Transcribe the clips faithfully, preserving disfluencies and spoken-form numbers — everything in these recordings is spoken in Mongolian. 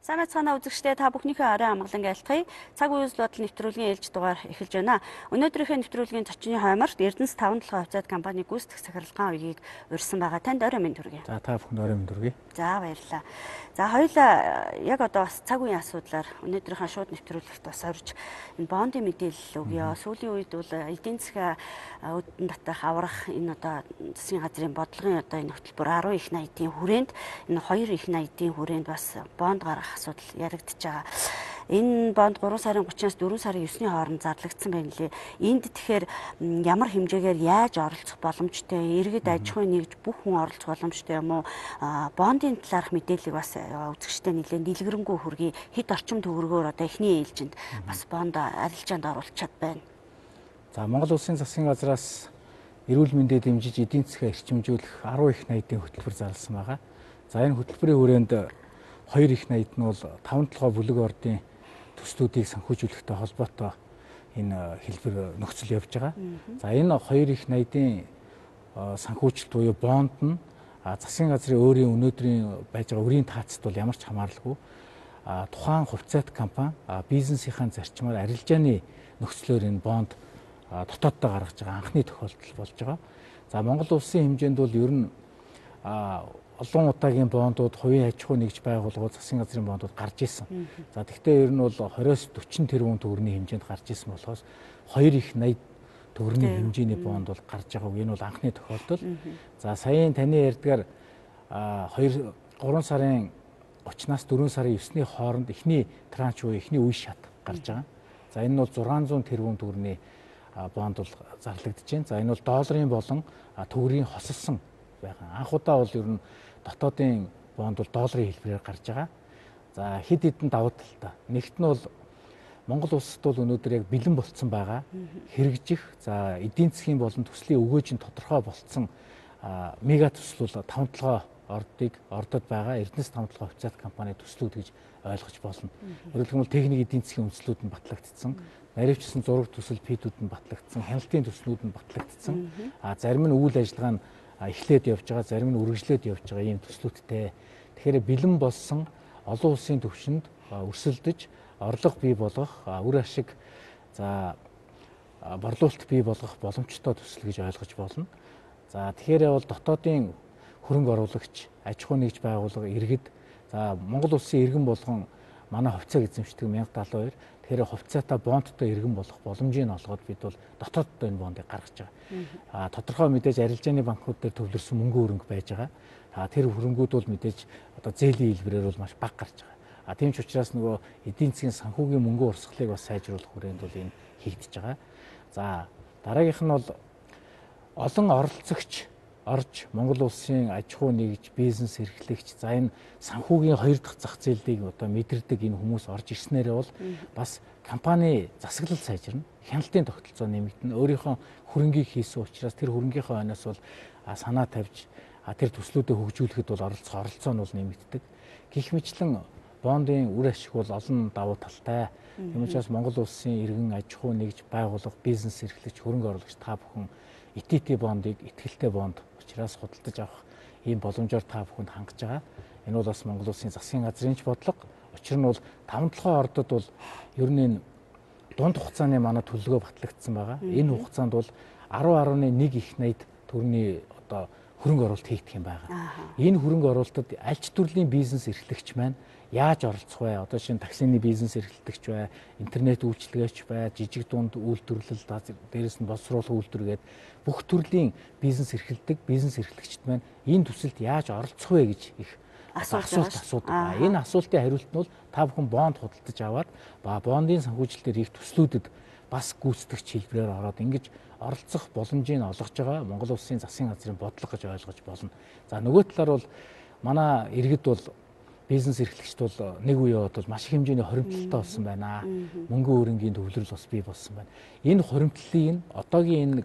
Сайн байцгаана үзэгчдээ, та бүхнийхээ орой амгалан айлтгая. Цаг үеийн бодлол нэвтрүүлгийн ээлж дугаар эхэлж байна. Өнөөдрийнхөө нэвтрүүлгийн зочны хойморт Эрдэнэс таван толгой хувьцаат компани гүйцэтгэх захиралгаан үеийг урьсан байгаа. Танд орой минь төргий. За та бүхэнд орой минь төргий. За баярлалаа. За хоёулаа яг одоо бас цаг үеийн асуудлаар өнөөдрийнхөө шууд нэвтрүүлэгт бас орж энэ бондын мэдээлэл өгье. Сүүлийн үед бол эдийн засгийн үүдэн татах аврах энэ одоо засгийн газрын бодлогын одоо энэ хөтөлбөр арван их найдын хүрээнд энэ хоёр их найдын хүрээнд бас бонд гарах асуудал яригдж байгаа. Энэ бонд гурван сарын гучнаас дөрвөн сарын есний хооронд зарлагдсан байна лээ. Энд тэгэхээр ямар хэмжээгээр яаж оролцох боломжтой, иргэд аж ахуйн нэгж бүх хүн оролцох боломжтой юм уу? Бондын талаарх мэдээллийг бас үзэгчтэй нэлээд дэлгэрэнгүй хүргэе. Хэд орчим төгрөгөөр одоо эхний ээлжинд бас бонд арилжаанд оруулчихад байна. За Монгол Улсын засгийн газраас эрүүл мэндэд дэмжиж эдийн засгаа эрчимжүүлэх арван их найдын хөтөлбөр зарласан байгаа. За энэ хөтөлбөрийн хүрээнд хоёр их найд нь бол таван толгой бүлэг ордын төслүүдийг санхүүжүүлэхтэй холбоотой энэ хэлбэр нөхцөл явж байгаа. За энэ хоёр их найдын санхүүжилт буюу бонд нь засгийн газрын өөрийн өнөөдрийн байж байгаа үрийн таацд бол ямар ч хамааралгүй тухайн хувьцаат компани бизнесийнхаа зарчмаар арилжааны нөхцлөөр энэ бонд дотооддоо гаргаж байгаа анхны тохиолдол болж байгаа. За Монгол улсын хэмжээнд бол ер нь олон удаагийн бондууд, хувийн аж ахуй нэгж байгууллагууд, засгийн газрын бондууд гарч ирсэн. За тэгвэл ер нь бол двадцать40 тэрбум төгрөгийн хэмжээнд гарч ирсэн болохоос хоёр их найд төгрөгийн хэмжээний бонд бол гарч байгаа. Энэ бол анхны тохиолдол. За саяын таны ярьдгаар хоёр гурван сарын гучнаас дөрвөн сарын есний хооронд эхний транш буюу эхний үе шат гарч байгаа. За энэ бол зургаан зуун тэрбум төгрөгийн бонд бол зарлагдаж байна. За энэ бол долларын болон төгрөгийн хосолсон байгаа. Анх удаа бол ер нь дотоодын бонд бол долларын хэлбэрээр гарч байгаа. За хэд хэдэн давуу талтай. Нэгт нь бол Монгол улсад бол өнөөдөр яг бэлэн болцсон байгаа. Хэрэгжих, за эдийн засгийн болон төслийн өгөөж нь тодорхой болцсон мега төсөл бол таван толгой ордыг ордод байгаа Эрдэнэс таван толгой хувьцаат компани төслүүд гэж ойлгож болно. Өөрөөр хэлбэл техник эдийн засгийн үндэслүүд нь батлагдсан, наривчсан зураг төсөл пидүүд нь батлагдсан, хяналтын төслүүд нь батлагдсан. А зарим нь үйл ажиллагаа нь эхлээд явж байгаа, зарим нь үргэлжлээд явж байгаа ийм төслүүдтэй. Тэгэхээр бэлэн болсон олон улсын түвшинд өрсөлдөж орлого бий болгох, үр ашиг за борлуулалт бий болгох боломжтой төсөл гэж ойлгож болно. За тэгэхээр бол дотоодын хөрөнгө оруулагч, аж ахуй нэгж байгууллага, иргэд за Монгол улсын иргэн болгон манай хувьцааг эзэмшдэг мянга талын хоёр. Тэгэхээр хувьцаатаа бондтой иргэн болох боломжийг олгоод бид бол дотооддоо энэ бондыг гаргаж байгаа. А тодорхой мэдээж арилжааны банкуд дээр төвлөрсөн мөнгө хөрөнгө байж байгаа. А тэр хөрөнгүүд бол мэдээж одоо зээлийн хэлбэрээр бол маш бага гарч байгаа. А тийм ч учраас нөгөө эдийн засгийн санхүүгийн мөнгө урсгалыг бас сайжруулах хүрээнд бол энэ хийгдэж байгаа. За дараагийнх нь бол олон оролцогч орж Монгол улсын аж ахуй нэгж, бизнес эрхлэгч, за энэ санхүүгийн хоёр дахь зах зээлийг одоо мэдэрдэг энэ хүмүүс орж ирснээрээ бол бас компани засаглал сайжирна, хяналтын тогтолцоо нэмэгдэнэ, өөрийнхөө хөрөнгийг хийсэн учраас тэр хөрөнгийнхөө хойноос бол санаа тавьж тэр төслүүдэд хөгжүүлэхэд бол оролцох оролцоо нь бол нэмэгддэг. Гэх мэтлэн бондын үр ашиг бол олон давуу талтай. Тийм учраас Монгол улсын иргэн аж ахуй нэгж байгууллага, бизнес эрхлэгч, хөрөнгө оруулагч та бүхэн и ти ти бондыг итгэлтэй бонд учраас худалдаж авах ийм боломжоор та бүхэнд хангаж байгаа. Энэ бол бас Монгол улсын засгийн газрын ч бодлого. Учир нь бол таван толгой ордод бол ер нь дунд хугацааны манай төлөвлөгөө батлагдсан байгаа. Энэ хугацаанд бол арван гаруй нэг их найд төгрөгийн одоо хөрөнгө оруулалт хийгдэх юм байгаа. Энэ хөрөнгө оруулалтад аль ч төрлийн бизнес эрхлэгч маань яаж оролцох вэ? Одоо шинэ таксины бизнес эрхлэгч бай, интернет үйлчилгээч бай, жижиг дунд үйлдвэрлэл, дээрээс нь боловсруулах үйлдвэр гээд бүх төрлийн бизнес эрхэлдэг бизнес эрхлэгчд маань энэ төсөлд яаж оролцох вэ гэж их асуулт асуудаг. Энэ асуултын хариулт нь бол та бүхэн бонд худалдаж аваад ба бондын санхүүжилтээр их төслүүдэд бас гүйцэтгэгч хэлбэрээр ороод ингэж оролцох боломжийг олгож байгаа Монгол улсын засгийн газрын бодлого гэж ойлгож болно. За нөгөө талаар бол манай иргэд бол бизнес эрхлэгчд бол нэг үе яваад бол маш их хэмжээний хоримтлалтай болсон байна. Мөнгө хөрөнгийн төвлөрөл бас бий болсон байна. Энэ хоримтлалыг одоогийн энэ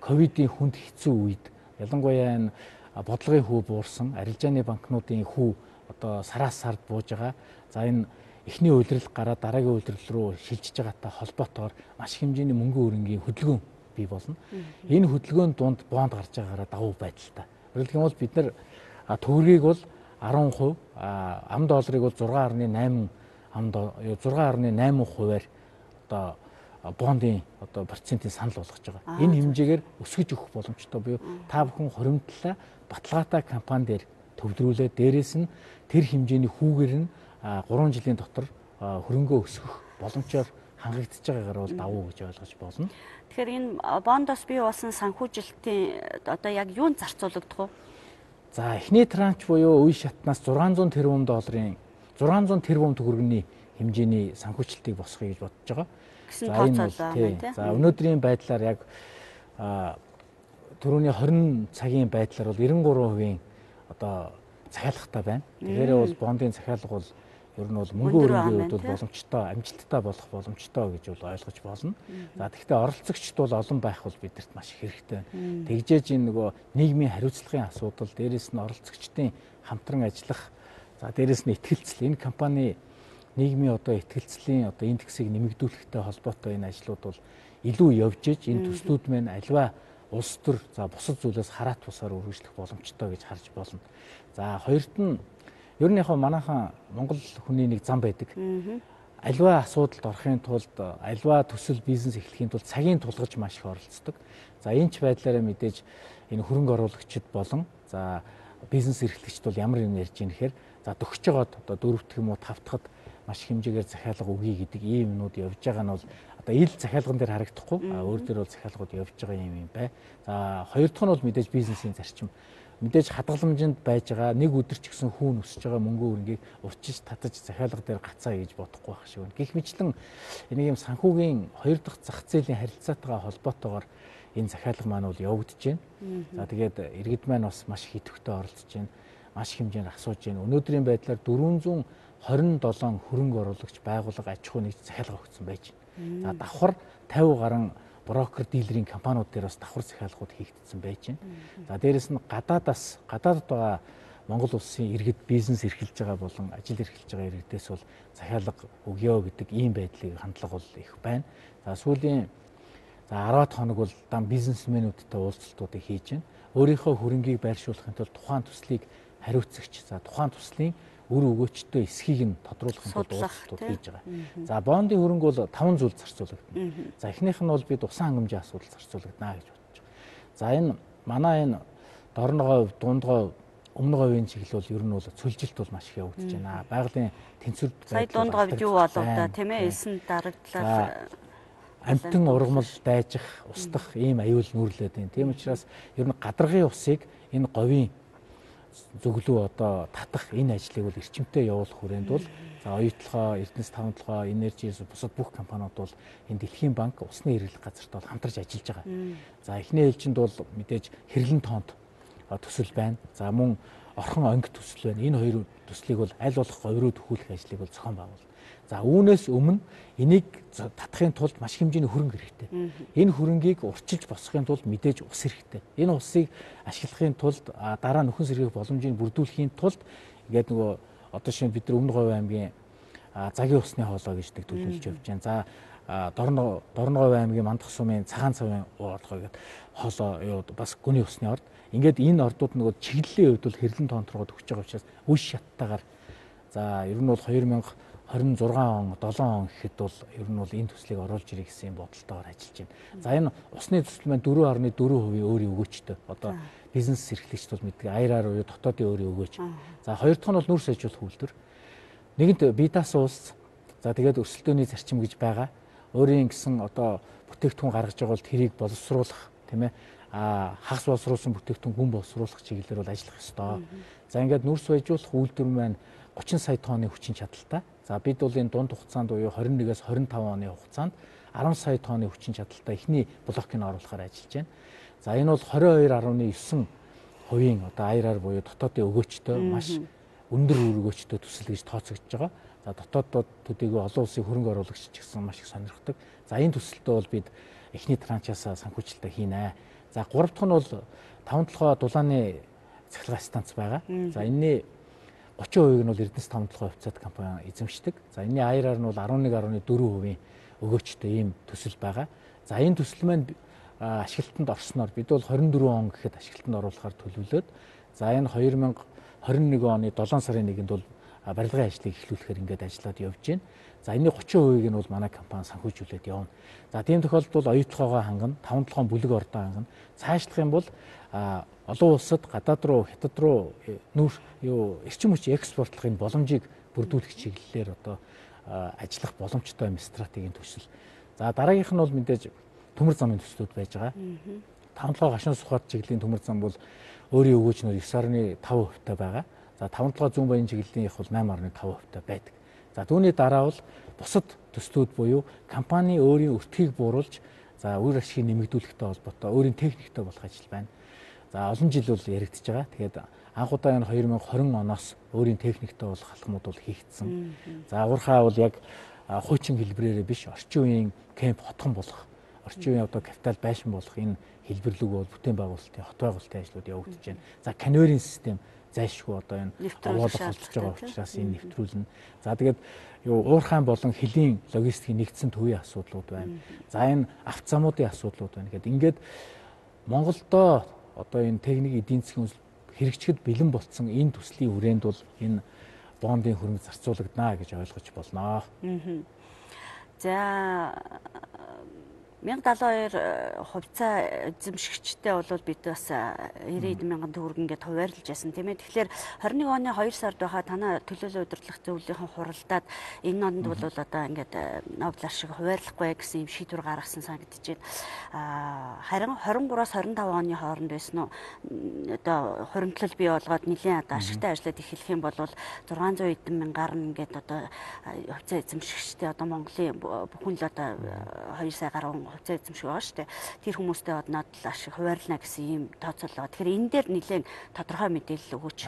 ковидын хүнд хэцүү үед ялангуяа энэ бодлогын хүү буурсан, арилжааны банкнуудын хүү одоо сараас сард бууж байгаа. За энэ эхний үйлрэл гараад дараагийн үйлрэл рүү шилжиж байгаатай холбоотойгоор маш хэмжээний мөнгөн хөрөнгийн хөдөлгөөн бий болно. Энэ хөдөлгөөнд дунд бонд гарч байгаараа давуу байдалтай. Өөрөлдөх юм бол бид нар төгрөгийг бол арван хувь, ам долларыг бол зургаан гаруй найман ам зургаан гаруй найман хувиар одоо бондын одоо процентын санал болгож байгаа. Энэ хэмжээгээр өсгөж өгөх боломжтой буюу та бүхэн хуримтлалаа баталгаатай компани дээр төвлөрүүлээд дээрээс нь тэр хэмжээний хүүгээр нь гурван жилийн дотор хөрөнгөө өсгөх боломжоор хангагдж байгаагаар бол давуу гэж ойлгож болно. Тэгэхээр энэ бондоос бий болсон санхүүжилтийн одоо яг юунд зарцуулагдах вэ? За эхний транш буюу үе шатнаас зургаан зуун тэрбум долларын зургаан зуун тэрбум төгрөгийн хэмжээний санхүүжилтийг босгоё гэж бодож байгаа. За энэ бол за өнөөдрийн байдлаар яг түрүүний хорин цагийн байдлаар бол девяносто три хувийн одоо захиалгатай байна. Тэгэхээр бол бондын захиалга бол ер нь бол мөнгө хөрөнгөний хувьд бол боломжтой, амжилттай болох боломжтой гэж бол ойлгож болно. За тэгэхээр оролцогчд бол олон байх бол бидэрт маш их хэрэгтэй байна. Тэгжээж энэ нөгөө нийгмийн хариуцлагын асуудал, дээрээс нь оролцогчдын хамтран ажиллах, за дээрээс нь итгэлцэл, энэ компани нийгмийн одоо итгэлцлийн одоо индексийг нэмэгдүүлэхтэй холбоотой энэ ажлууд бол илүү явж иж энэ төслүүд маань альва улс төр за бусад зүйлээс хараат бусаар үргэлжлэх боломжтой гэж харж болно. За хоёрт нь ер нь яг манайхан Монгол хүний нэг зам байдаг. Альва асуудалд орохын тулд альва төсөл бизнес эхлэхийн тулд цагийн тулгаж маш их оролцдог. За энэ ч байдлаараа мэдээж энэ хөрөнгө оруулагчид болон за бизнес эрхлэгчид бол ямар юм ярьж ийм гэхээр за төгсөж байгаад одоо дөрөвт юм уу тавтахад маш хэмжээгээр захиалга өгье гэдэг ийм юмнууд явж байгаа нь бол одоо ил захиалган дээр харагдахгүй өөр дээр бол захиалгууд явж байгаа юм юм бай. За хоёр дахь нь бол мэдээж бизнесийн зарчим. Мэдээж хадгаламжинд байж байгаа нэг өдөр ч гэсэн хүүн өсөж байгаа мөнгө хөрөнгийг урчиж татаж захиалга дээр гацаа гэж бодохгүй байх шиг байна. Гэх мэтлэн энийг юм санхүүгийн хоёр дахь зах зээлийн харилцаатайгаа холбоотойгоор энэ захиалга маань бол явагдаж байна. За тэгээд иргэд маань бас маш их идэвхтэй оролцож байна. Маш их хэмжээнд асууж байна. Өнөөдрийн байдлаар дөрвөнзуун хорин долоон хөрөнгө оруулагч байгууллага аж ахуй нэгж захиалга өгсөн байж байна. За давхар тавин гаруй брокер дилерийн компаниуд дээр бас давхар захиалгууд хийгдсэн байж байна. За дээрэс нь гадаадаас гадаадд байгаа Монгол улсын иргэд бизнес эрхэлж байгаа болон ажил эрхэлж байгаа иргэдээс бол захиалга өгөө гэдэг ийм байдлыг хандлага бол их байна. За сүүлийн за арваад хоног бол дан бизнесмэнүүдтэй уулзалтуудыг хийж байна. Өөрийнхөө хөрөнгийг байршуулахын тулд тухайн төслийг хариуцагч за тухайн төслийн үр өгөөчтэй эсхийг нь тодруулахын тулд уулзалтууд хийж байгаа. За бондын хөрөнгө бол таван зүйл зарцуулагдана. За эхнийх нь бол бид усан хангамжийн асуудал зарцуулагдана гэж бодож байгаа. За энэ манай энэ дорногой, дундгой, өмнөгойн чиглэл бол ер нь бол цөлжилт бол маш их явагдаж байна. Байгалийн тэнцвэр сая дундгойд юу болов да тийм ээ эсэн дарагдлаар амтан ургамал дайжих, устдах ийм аюул нүүрлээд байна. Тийм учраас ер нь гадаргын усыг энэ говийн зөвлөө одоо татах энэ ажлыг бол эрчимтэй явуулах хүрээнд бол за оюутлогоо, Эрдэнэс таван толгой, Энержис бусад бүх компаниуд бол энэ Дэлхийн банк усны хэрэглэх газарт бол хамтарч ажиллаж байгаа. За эхний ээлжинд бол мэдээж хэрлэн тоонд төсөл байна. За мөн орхон онг төсөл байна. Энэ хоёр төслийг бол аль болох говьруу төхүүлэх ажлыг бол зохион байгуул. За үүнээс өмнө энийг татахын тулд маш хэмжээний хөрөнгө хэрэгтэй. Энэ хөрөнгийг урчилж босгохын тулд мэдээж ус хэрэгтэй. Энэ усыг ашиглахын тулд дараа нөхөн сэргээх боломжийг бүрдүүлэхийн тулд ингээд нөгөө одоо шинэ бид нар Өмнөговь аймгийн загийн усны хоолой гэж нэг төлөвлөж явж байна. За Дорно Дорноговь аймгийн Мандах сумын цагаан цавын хоолой гэдэг хоолой юу бас гүний усны орд. Ингээд энэ ордууд нөгөө чиглэлийн хувьд бол хэрлэн тоонторгоод өгч байгаа учраас үе шаттайгаар за ер нь бол хоёр мянга хорин зургаан он, долоон он гэхэд бол ер нь бол энэ төслийг оруулж ирэх гэсэн бодолтойгоор ажиллаж байна. За энэ усны төсөл маань дөрвөн гаруй дөрвөн хувийн өөрийн өгөөчтэй. Одоо бизнес эрхлэгчд бол мэддэг аяараар уу дотоодын өөрийн өгөөч. За хоёр дахь нь бол нүүрс ажиллах үйлдвэр. Нэгэнт бидаас ус. За тэгээд өрсөлдөөний зарчим гэж байгаа. Өөрийн гэсэн одоо бүтээгдэхүүн гаргаж байгаа бол тэрийг боловсруулах тийм ээ. А хагас боловсруулсан бүтээгдэхүүн гүн боловсруулах чиглэлээр бол ажиллах ёстой. За ингээд нүүрс ажиллах үйлдвэр маань гучин сая тонны хүчин чадалтай. За бид бол энэ дунд хугацаанд буюу хорин нэгээс хорин таван оны хугацаанд арван сая тонны хүчин чадалтай эхний блокийг оруулахаар ажиллаж байна. За энэ бол двадцать two гаруй нine хувийн одоо аяараар буюу дотоодын өгөөчтэй маш өндөр үр өгөөчтэй төсөл гэж тооцогдож байгаа. За дотооддод төдийгүй олон улсын хөрөнгө оруулагч ч гэсэн маш их сонирхдаг. За энэ төсөлтөө бол бид эхний транчаас санхүүжилтээ хийнэ. За гурав дахь нь бол таван толгой дулааны цахилгаан станц байгаа. За энэний гучин хувийг нь бол Эрдэнэс таван толгой хувьцаат компани эзэмшдэг. За энэний аяараар нь бол арван нэг дөрвөн хувийн өгөөчтэй ийм төсөл байгаа. За энэ төсөл маань ашиглалтанд орсноор бид бол хорин дөрвөн он гэхэд ашиглалтанд оруулахаар төлөвлөөд за энэ хоёр мянга хорин нэг оны долоон сарын нэгэнд бол барилгын ажлыг эхлүүлэхээр ингээд ажиллаад явж байна. За энэний гучин хувийг нь бол манай компани санхүүжүүлээд явна. За тийм тохиолдолд оюутлогоогоо хангана, таван толгойн бүлэг ордоо хангана. Цаашлах юм бол олон улсад гадаад руу, хятад руу нүүр юу эрчим хүчийн экспортлохын боломжийг бүрдүүлэх чиглэлээр одоо ажиллах боломжтой юм стратегийн төсөл. За дараагийнх нь бол мэдээж төмөр замын төслүүд байж байгаа. таван толгой гашуун сухад чиглэлийн төмөр зам бол өөрийн өгөөчнөр девять дасалж таван хувьтай байгаа. За таван толгой зүүн баян чиглэлийн их бол восемь дасалж таван хувьтай байдаг. За түүний дараа бол бусад төслүүд буюу компани өөрийн өртгийг бууруулж за үр ашгийг нэмэгдүүлэхтэй холбоотой өөрийн техниктэй болох ажил байна. За олон жил бол яригдж байгаа. Тэгээд анх удаа энэ хоёр мянга хорин оноос өөрийн техниктэй болох алхмууд бол хийгдсэн. За уурхаа бол яг хуучин хэлбэрээрээ биш орчин үеийн кемп хотхон болох, орчин үеийн одоо капитал байшин болох энэ хэлбэрлэг бол бүтээн байгуулалтын хот байгуулалтын ажлууд явагдаж байна. За конвейерийн систем зайлшгүй одоо энэ оруулах болж байгаа учраас энэ нэвтрүүлнэ. За тэгээд юу уурхайн болон хөлийн логистикийн нэгдсэн төвийн асуудлууд байна. За энэ авто замуудын асуудлууд байна. Гэхэд ингээд Монголдо одоо энэ техник эдийн засгийн хэрэгжихэд бэлэн болцсон энэ төслийн хүрээнд бол энэ бондын хөрөнгө зарцуулагдана гэж ойлгож болно. За мянга даалын хоёр хувьцаа эзэмшигчтэй бол бид бас ирээдүйн мянган төгрөг ингээд хуваарлаж яасан тийм ээ. Тэгэхээр хорин нэг оны хоёр сард байхаа танаа төлөөлөл удирдлах зөвлөлийн хуралдаад энэ онд бол одоо ингээд Нобелар шиг хуваарлахгүй гэсэн юм шийдвэр гаргасан санагдаж байна. Аа харин хорин гураас хорин таван оны хооронд байсан уу одоо хуримтлал бий болгоод нэлийн одоо ашигтай ажиллаад эхлэх юм бол зургаан зуун эдэн мянгаар нь ингээд одоо хувьцаа эзэмшигчтэй одоо Монголын бүхэн л одоо хоёр сая гаруй хувьцаа эзэмшиг байгаа шүү дээ. Тэр хүмүүстэй одноод л ашиг хуваарлана гэсэн ийм тооцоол байгаа. Тэгэхээр энэ дээр нэлээд тодорхой мэдээлэл өгөөч.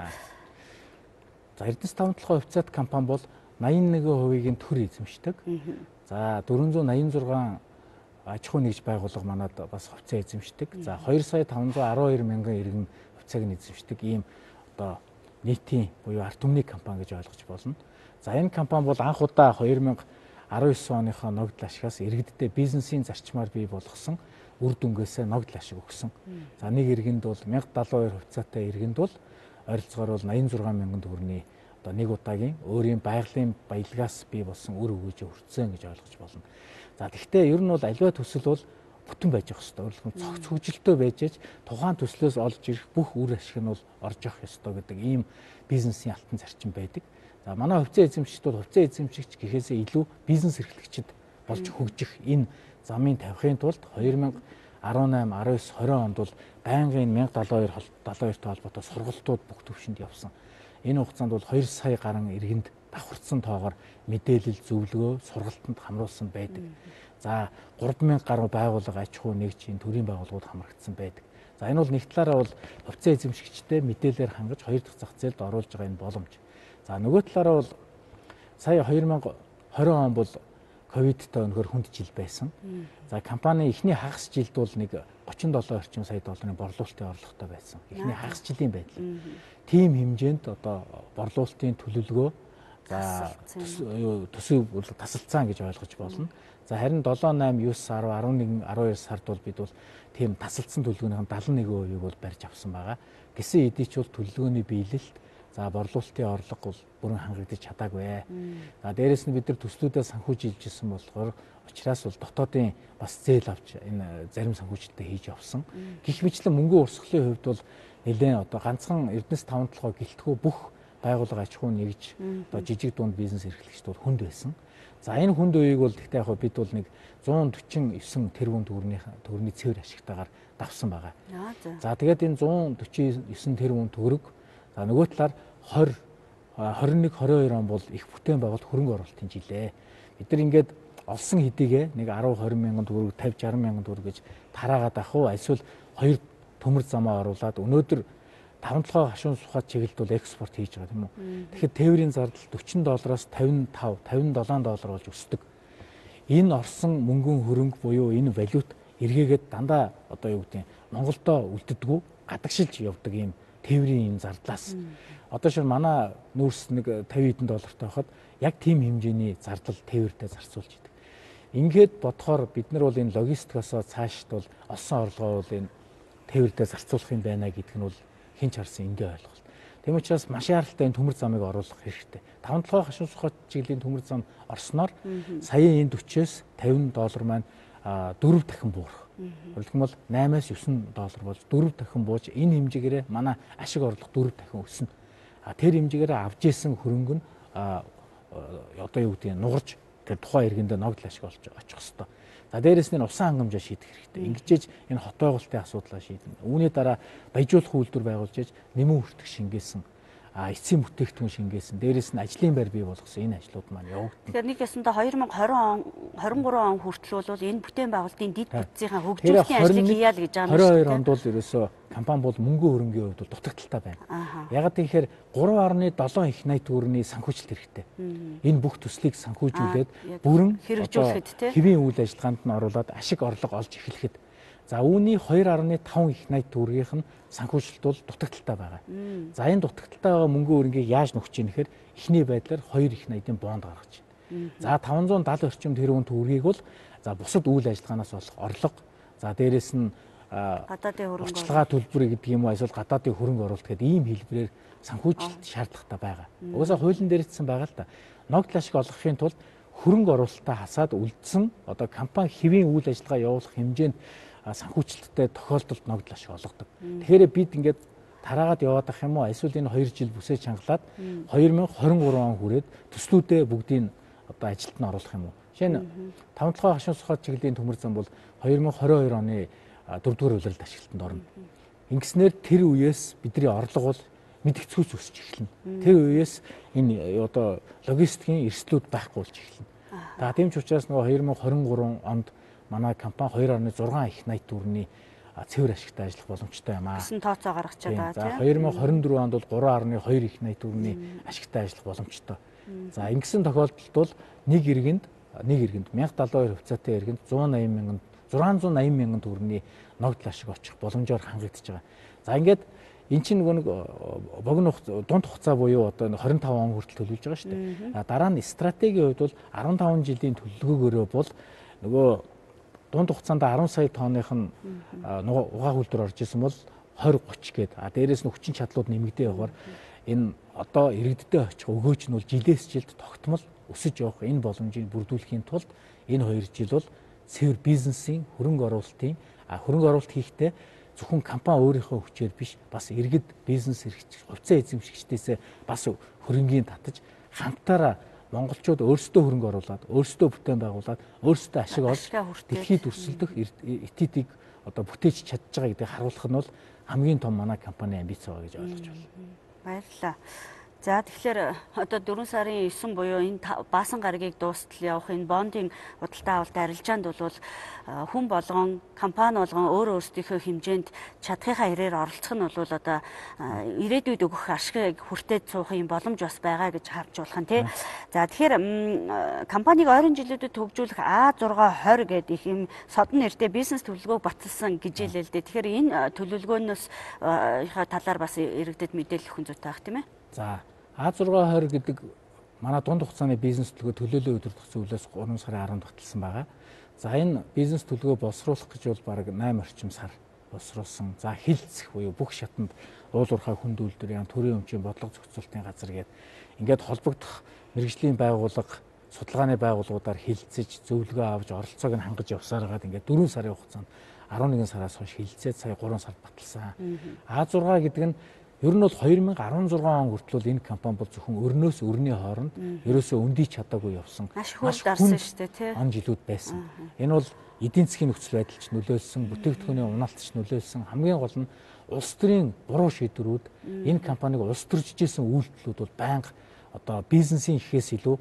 За Эрдэнэс таван толгой хувьцаат компани бол восемь нэг хувийг төр эзэмшдэг. За дөрвөн зуун найман зургаан аж ахуй нэгж байгууллага манад бас хувьцаа эзэмшдэг. За хоёр сая таван зуун арван хоёр мянган иргэн хувьцааг нь эзэмшдэг ийм одоо нийтийн буюу ард түмний компани гэж ойлгож болно. За энэ компани бол анх удаа хоёр мянга арван девять оныхоо ногдол ашигаас иргэддээ бизнесийн зарчмаар бий болгосон үр дүнгээсээ ногдол ашиг өгсөн. За нэг иргэнд бол мянга даалын хоёр хувьцаатай иргэнд бол ойролцоогоор бол восемь зургаан мянган төгрөгийн одоо нэг удаагийн өөрийн байгалийн баялгаас бий болсон үр өгөөжөө хүртсэн гэж ойлгож болно. За тэгвэл ер нь бол аливаа төсөл бол бүтэн байж явах ёстой. Өөрөлдөн цогц хөгжилтэй байж аж тухайн төслөөс олж ирэх бүх үр ашиг нь бол орж явах ёстой гэдэг ийм бизнесийн алтан зарчим байдаг. За манай хувьцаа эзэмшигчд бол хувьцаа эзэмшигч гэхээсээ илүү бизнес эрхлэгчид болж хөгжих энэ замын тавихын тулд хоёр мянга арван восемь, арван девять, двадцать онд бол байнгын мянга даалын хоёр даалын хоёртой холбоотой сургалтууд бүх төвшөнд явсан. Энэ хугацаанд бол хоёр сая гаруй иргэнд давхарцсан тоогоор мэдээлэл зөвлөгөө сургалтанд хамруулсан байдаг. За гурван мянга гаруй байгууллага аж ахуй нэгжийн төрийн байгууллагууд хамрагдсан байдаг. За энэ бол нэг талаараа бол хувьцаа эзэмшигчтэй мэдээлэлээр хангаж хоёр дахь зах зээлд оруулж байгаа энэ боломж. За нөгөө талаараа бол сая хоёр мянга двадцать он бол ковидтой өнөхөр хүнд жил байсан. За компани эхний хагас жилд бол нэг тридцать долоо орчим сая долларын борлуулалтын орлоготой байсан. Эхний хагас жилийн байдал. Тим хэмжээнд одоо борлуулалтын төлөвлөгөө за төсөв бол тасалцсан гэж ойлгож болно. За харин семь, восемь, девять, десять, eleven, twelve сард бол бид бол тийм тасалдсан төлөвлөгөөнийх нь seventy-one хувийг бол барьж авсан байгаа. Гэсэн хэдий ч бол төлөвлөгөөний биелэлт за борлуулалтын орлого бол бүрэн хангагдаж чадаагүй. За дээрэс нь бид нар төслүүдээ санхүүжилж ирсэн болохоор учраас бол дотоодын бас зээл авч энэ зарим санхүүжилтээ хийж явсан. Гэх мэтлэн мөнгө урсгалын хувьд бол нэлээд одоо ганцхан Эрдэнэс таван толгой гэлтгүү бүх байгууллага аж ахуй нэгж одоо жижиг дунд бизнес эрхлэгчд бол хүнд байсан. За энэ хүнд үеийг бол тэгтээ яг бид бол нэг one forty-nine тэрбум төгрөгийн төгрөгийн цэвэр ашигтайгаар давсан байгаа. За тэгээд энэ one forty-nine тэрбум төгрөг за нөгөө талаар twenty, twenty-one, twenty-two он бол их бүтээн байгуулалт хөрөнгө оруулалтын жилээ. Бид нар ингээд олсон хэдийгээ нэг ten, twenty мянган төгрөг, fifty, sixty мянган төгрөг гэж тараагаад авах уу эсвэл хоёр төмөр замаа оруулаад өнөөдөр таван толгой хашуун сухад чиглэлд бол экспорт хийж байгаа тийм үү. Тэгэхээр тээврийн зардал forty доллараас fifty-five, fifty-seven доллар болж өсдөг. Энэ орсон мөнгөн хөрөнгө буюу энэ валют эргээгээд дандаа одоо юу гэдэг нь Монголдо үлддэггүй гадагшилж явдаг юм тээврийн юм зардлаас. Одоо шир манай нүүрс нэг тавин хэдэн доллартай байхад яг тийм хэмжээний зардал тээвэртэй зарцуулж идэг. Ингээд бодохоор бид нар бол энэ логистикасоо цаашд бол олсон орлогоо бол энэ тээвэртэй зарцуулах юм байна гэдг нь бол хэн ч харсан энгийн ойлголт. Тийм учраас маш яралтай энэ төмөр замыг оруулах хэрэгтэй. таван толгой хашуун сухад чиглэлийн төмөр зам орсноор саяын энэ хүчээс тавин доллар маань дөрөв дахин буурах. Тэгвэл наймаас девь доллар болж дөрөв дахин бууж энэ хэмжээгээр манай ашиг орлого дөрөв дахин өснө. Тэр хэмжээгээр авж исэн хөрөнгө нь одоо юу гэдэг нь нугарж тэр тухайн иргэндээ ногдол ашиг олж очих хэвээр. За дээрэс нь усан хангамжаа шийдэх хэрэгтэй. Ингэжээж энэ хот байгуулалтын асуудлаа шийднэ. Үүний дараа баяжуулах үйлдвэр байгуулж ээж нэмэн хүртэх шингээсэн а эцсийн бүтээгдэхүүн шингээсэн. Дээрээс нь ажлын байр бий болгосон энэ ажлууд маань явагдана. Тэгэхээр нэг ясандаа две тысячи двадцать он двадцать три он хүртэл бол энэ бүтээн байгуулалтын дэд бүтцийн хөгжүүлэлтийн ажлыг хийя л гэж байгаа юм шиг. двадцать two онд бол ерөөсөө компани бол мөнгө хөрөнгийн хувьд бол дутагдaltaй байна. Ягаад гэхээр three point seven их найт төгрөгийн санхүүжилт хэрэгтэй. Энэ бүх төслийг санхүүжүүлээд бүрэн хэрэгжүүлэхэд хэвийн үйл ажиллагаанд нь оруулаад ашиг орлого олж эхлэхэд за үүний two point five их найт төгрөгийнх нь санхүүжилт бол дутагдaltaй байгаа. За энэ дутагдaltaй байгаа мөнгө хөрөнгийг яаж нөхөж ийн гэхээр эхний байдлаар two их найдын бонд гаргаж байна. За five seventy орчим тэрбум төгрөгийг бол за бусад үйл ажиллагаанаас болох орлого за дээрэс нь гадаадын хөрөнгө оруулалт төлбөр гэдэг юм уу эсвэл гадаадын хөрөнгө оруулалт гэдэг ийм хэлбэрээр санхүүжилт шаардлагатай байгаа. Угаасаа хуулийн дээрэтсэн байгаа л да. Ногдол ашиг олгохын тулд хөрөнгө оруулалтаа хасаад үлдсэн одоо компани хэвийн үйл ажиллагаа явуулах хэмжээнд санхүүжилттэй тохиолдолд ногдол ашиг олгодог. Тэгэхээр бид ингээд тараагаад яваад ах юм уу эсвэл энэ two жил бүсээ чангалаад two thousand twenty-three он хүрээд төслүүдээ бүгдийг одоо ажилд нь оруулах юм уу. Жишээ нь таван толгой хашуун сухад чиглэлийн төмөр зам бол two thousand twenty-two оны дөрөвдүгээр улиралд ашиглалтанд орно. Ингэснээр тэр үеэс бидний орлого бол мэдгэцгүүц өсч эхэлнэ. Тэр үеэс энэ одоо логистикийн эрсдлүүд байхгүй болж эхэлнэ. За тийм ч учраас нөгөө two thousand twenty-three онд манай компани two point six их найт төгрөгийн цэвэр ашигтай ажиллах боломжтой юм аа. Гэсэн тооцоо гаргаж байгаа тийм. За two thousand twenty-four онд бол three point two их найт төгрөгийн ашигтай ажиллах боломжтой. За ингэсэн тохиолдолд бол нэг иргэнд нэг иргэнд one thousand seventy-two хувьцаатай иргэнд one hundred eighty мянган six hundred eighty мянган төгрөгийн ногдол ашиг очих боломжоор хангагдаж байгаа. За ингээд эн чинь нөгөө нэг богино дунд хугацаа буюу одоо twenty-five он хүртэл төлөвлөж байгаа шүү дээ. Дараа нь стратегийн хувьд бол fifteen жилийн төлөвлөгөөгөөрөө бол нөгөө дунд хугацаанд ten сая тонных нь угаах үйлдвэр орж исэн бол twenty thirty гээд а дээрээс нь хүчин чадлууд нэмэгдээ явахаар энэ одоо иргэддээ очих өгөөч нь бол жилээс жилд тогтмол өсөж явах энэ боломжийг бүрдүүлэхийн тулд энэ two жил бол цэвэр бизнесийн хөрөнгө оруулалтын а хөрөнгө оруулалт хийхдээ зөвхөн компани өөрийнхөө хүчээр биш бас иргэд бизнес эрхч хувьцаа эзэмшигчдээс бас хөрөнгийн татаж хамтаараа монголчууд өөрсдөө хөрөнгө оруулаад өөрсдөө бүтээн байгуулад өөрсдөө ашиг олж дэлхийд өрсөлдөх этидийг одоо бүтээж чадж байгаа гэдгийг харуулах нь бол хамгийн том манай компани амбиц байгаа гэж ойлгож байна. Баярлалаа. За тэгэхээр одоо four сарын nine буюу энэ баасан гарагийг дуустал явах энэ бондын худалдаа авалт арилжаанд бол хүн болгон компани болгон өөр өөрсдийнхөө хэмжээнд чадхынхаа хэрээр оролцох нь бол одоо ирээдүйд өгөх ашиг хүртээд суух юм боломж бас байгаа гэж харж болох нь тий. За тэгэхээр компаниг ойрын жилүүдэд хөгжүүлэх A six twenty гэдэг их юм содон нэртэй бизнес төлөвлөгөөг баталсан гэж хэлээ л дээ. Тэгэхээр энэ төлөвлөгөөнөөс талаар бас иргэдэд мэдээлэл өгөх зүйтэй байх тийм ээ. За A six twenty гэдэг манай дунд хугацааны бизнес төлөвлөгөө төлөөлөл өдөртөх зүйлээс three сарын ten баталсан байгаа. За энэ бизнес төлөвлөгөө боловсруулах гэж бол бараг eight орчим сар боловсруулсан. За хилцэх буюу бүх шатанд уул уурхай хүнд үйлдвэр ян төрийн өмчийн бодлого зохицуулалтын газар гээд ингээд холбогдох мэргэжлийн байгууллага судалгааны байгууллагуудаар хилцэж зөвлөгөө авч оролцоог нь хангаж явсаар хагаад ингээд four сарын хугацаанд eleven сараас хойш хилцээд сая three сард баталсан. A six гэдэг нь ер нь бол twenty sixteen он хүртэл энэ компани бол зөвхөн өрнөөс өрний хооронд ерөөсөө өндийч чадаагүй явсан. Маш хүнд дарсан шүү дээ тий. Он жилүүд байсан. Энэ бол эдийн засгийн нөхцөл байдалч нөлөөлсөн, бүтээгдэхүүний унаалтч нөлөөлсөн. Хамгийн гол нь улс төрийн буруу шийдвэрүүд энэ компаниг улс төрж ижсэн үйлдэлүүд бол байнга одоо бизнесийн ихээс илүү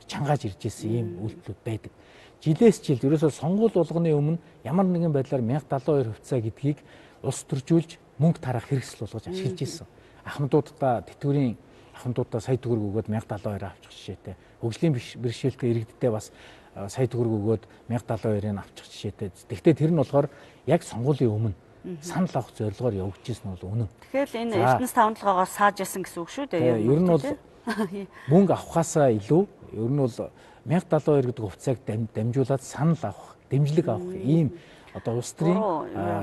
чангааж ирж ирсэн ийм үйлдэлүүд байдаг. Жилээс жилд ерөөсөө сонгуул болгоны өмнө ямар нэгэн байдлаар one thousand seventy-two хувьцаа гэдгийг улс төржүүлж мөнгө тарах хэрэгсэл болгож ашиглаж ирсэн. Ахмадуудаа тэтгэврийн ахмадуудаа сая төгрөг өгөөд one thousand seventy-two авчих жишээтэй. Хөгжлийн бэрхшээлтэй иргэддээ бас сая төгрөг өгөөд one thousand seventy-two-ыг авчих жишээтэй. Тэгвэл тэр нь болохоор яг сонгуулийн өмнө санал авах зорилгоор явагдчихсан бол үнэн. Тэгэхээр энэ Эрдэнэс таван толгоогоос сааж ясан гэсэн үг шүү дээ. Ер нь бол мөнгө авахаасаа илүү ер нь бол мянга далуу хоёр гэдэг хувьцааг дамжуулаад санал авах, дэмжлэг авах ийм одоо улс төрийн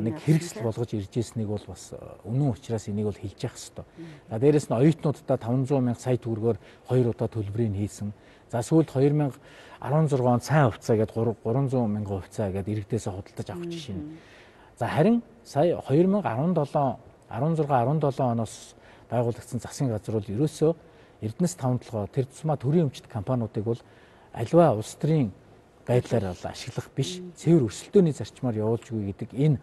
нэг хэрэгсэл болгож ирж ирснийг бол бас үнэн учраас энийг бол хэлж явах хэрэгтэй. За дээрэс нь оюутнуудаа таван зуун мянга сая төгрөгөөр хоёр удаа төлбөрийг хийсэн. За сүүлд хоёр мянга арван зурган он сайн хувьцаа гэдэг гурван зуун мянган хувьцаа гэдэг иргэдээс худалдаж авах жишээ нь. За харин сая хоёр мянга арван долоо арван зургаан арван долоо оноос байгуулагдсан засгийн газар бол ерөөсөө Эрдэнэс таван толгой тэр тусмаа төрийн өмчт компаниудыг бол аливаа улс төрийн байдлаар бол ашиглах биш, цэвэр өрсөлдөөний зарчмаар явуулж үгүй гэдэг энэ